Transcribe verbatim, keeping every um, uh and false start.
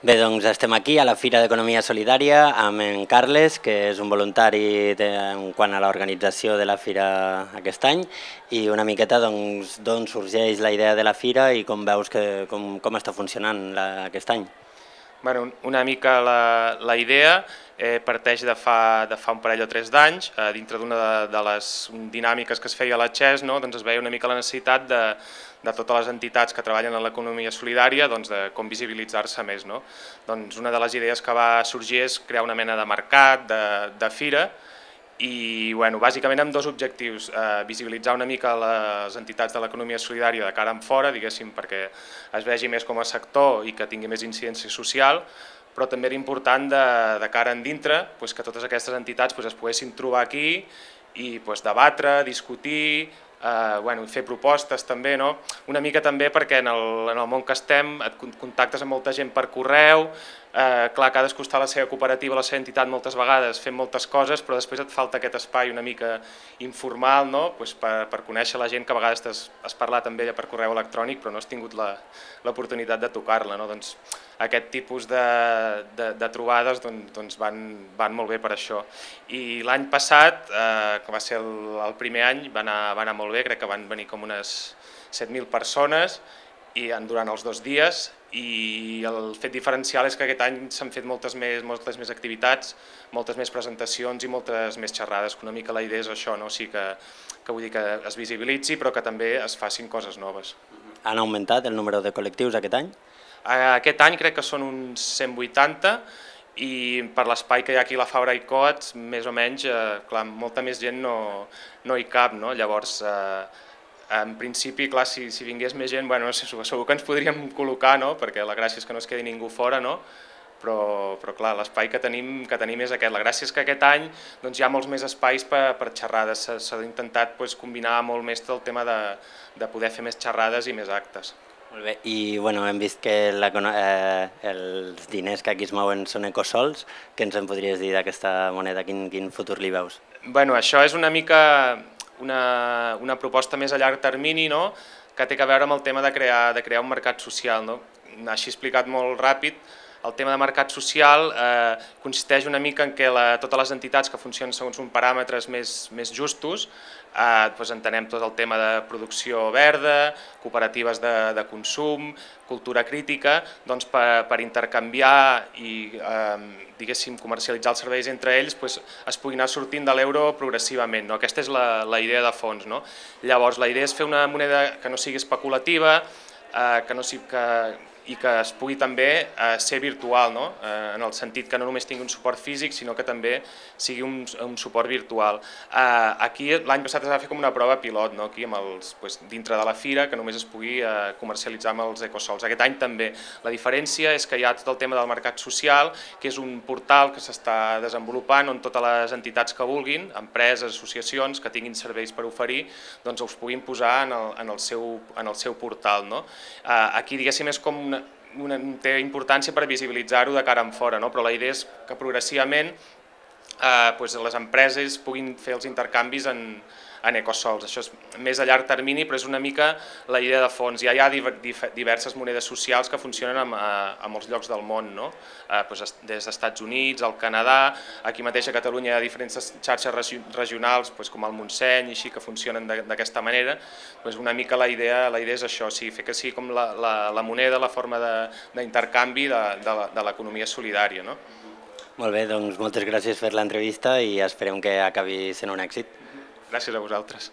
Bé, doncs estem aquí a la Fira d'Economia Solidària amb en Carles, que és un voluntari de, en quant a l'organització de la Fira aquest any, i una miqueta doncs, d'on sorgeix la idea de la Fira i com veus que, com, com està funcionant la, aquest any. Bueno, una mica la, la idea eh, parteix de fa, de fa un parell o tres d'anys, eh, dintre d'una de, de les dinàmiques que es feia a la Xes, no? Doncs es veia una mica la necessitat de, de totes les entitats que treballen en l'economia solidària, doncs de com visibilitzar-se més. No? Doncs una de les idees que va sorgir és crear una mena de mercat, de, de fira, i bueno, bàsicament amb dos objectius, eh, visibilitzar una mica les entitats de l'economia solidària de cara en fora, diguéssim, perquè es vegi més com a sector i que tingui més incidència social, però també era important de, de cara en dintre pues, que totes aquestes entitats pues, es poguessin trobar aquí i pues, debatre, discutir, eh, bueno, fer propostes també, no? Una mica també perquè en el, en el món que estem et contactes amb molta gent per correu, eh, clar, cadascú està a la seva cooperativa, a la seva entitat moltes vegades fent moltes coses, però després et falta aquest espai una mica informal, no? Pues per, per conèixer la gent que a vegades has, has parlat amb ella per correu electrònic però no has tingut l'oportunitat de tocar-la. No? Doncs aquest tipus de, de, de trobades doncs, doncs van, van molt bé per això. I l'any passat, eh, que va ser el, el primer any, va anar, va anar molt bé, crec que van venir com unes set mil persones i durant els dos dies, i el fet diferencial és que aquest any s'han fet moltes més, moltes més activitats, moltes més presentacions i moltes més xerrades, que una mica la idea és això, no? O sigui que, que vull dir que es visibilitzi però que també es facin coses noves. Han augmentat el número de col·lectius aquest any? Aquest any crec que són uns cent vuitanta i per l'espai que hi ha aquí a la Fabra i Coats, més o menys, eh, clar, molta més gent no, no hi cap, no? Llavors, eh, en principi, clar, si, si vingués més gent, bueno, no sé, segur que ens podríem col·locar, no? Perquè la gràcia és que no es quedi ningú fora, no? Però, però clar, l'espai que tenim, que tenim és aquest. La gràcia és que aquest any doncs, hi ha molts més espais per, per xerrades. S'ha intentat pues, combinar molt més el tema de, de poder fer més xerrades i més actes. Molt bé, i bueno, hem vist que la, eh, els diners que aquí es mouen són ecosols. Què ens en podries dir d'aquesta moneda? Quin, quin futur li veus? Bueno, això és una mica una, una proposta més a llarg termini, no? Que té a veure amb el tema de crear, de crear un mercat social. No? Així explicat molt ràpid, el tema de mercat social eh, consisteix una mica en què la, totes les entitats que funcionen segons uns paràmetres més, més justos, eh, doncs entenem tot el tema de producció verda, cooperatives de, de consum, cultura crítica, doncs per, per intercanviar i eh, diguéssim, comercialitzar els serveis entre ells, doncs es pugui anar sortint de l'euro progressivament. No? Aquesta és la, la idea de fons. No? Llavors, la idea és fer una moneda que no sigui especulativa, eh, que no sigui... Que, i que es pugui també eh, ser virtual, no? eh, en el sentit que no només tingui un suport físic, sinó que també sigui un, un suport virtual. Eh, aquí l'any passat es va fer com una prova pilot, no? Aquí amb els, pues, dintre de la fira, que només es pugui eh, comercialitzar amb els ecosols. Aquest any també. La diferència és que hi ha tot el tema del mercat social, que és un portal que s'està desenvolupant on totes les entitats que vulguin, empreses, associacions, que tinguin serveis per oferir, doncs els puguin posar en el, en el, seu, en el seu portal. No? Eh, aquí, diguéssim, és com una, una, té importància per visibilitzar-ho de cara en fora, no? Però la idea és que progressivament eh, pues les empreses puguin fer els intercanvis en, en ecosols. Això és més a llarg termini, però és una mica la idea de fons. Ja hi ha diverses monedes socials que funcionen en, a molts llocs del món, no? eh, pues des dels Estats Units, al Canadà, aquí mateix a Catalunya hi ha diferents xarxes regionals pues com el Montseny i així que funcionen d'aquesta manera. Pues una mica la idea, la idea és això, o sigui, fer que sigui com la, la, la moneda, la forma d'intercanvi de, de, de l'economia solidària. No? Molt bé, doncs moltes gràcies per l'entrevista i esperem que acabi sent un èxit. Gràcies a vosaltres.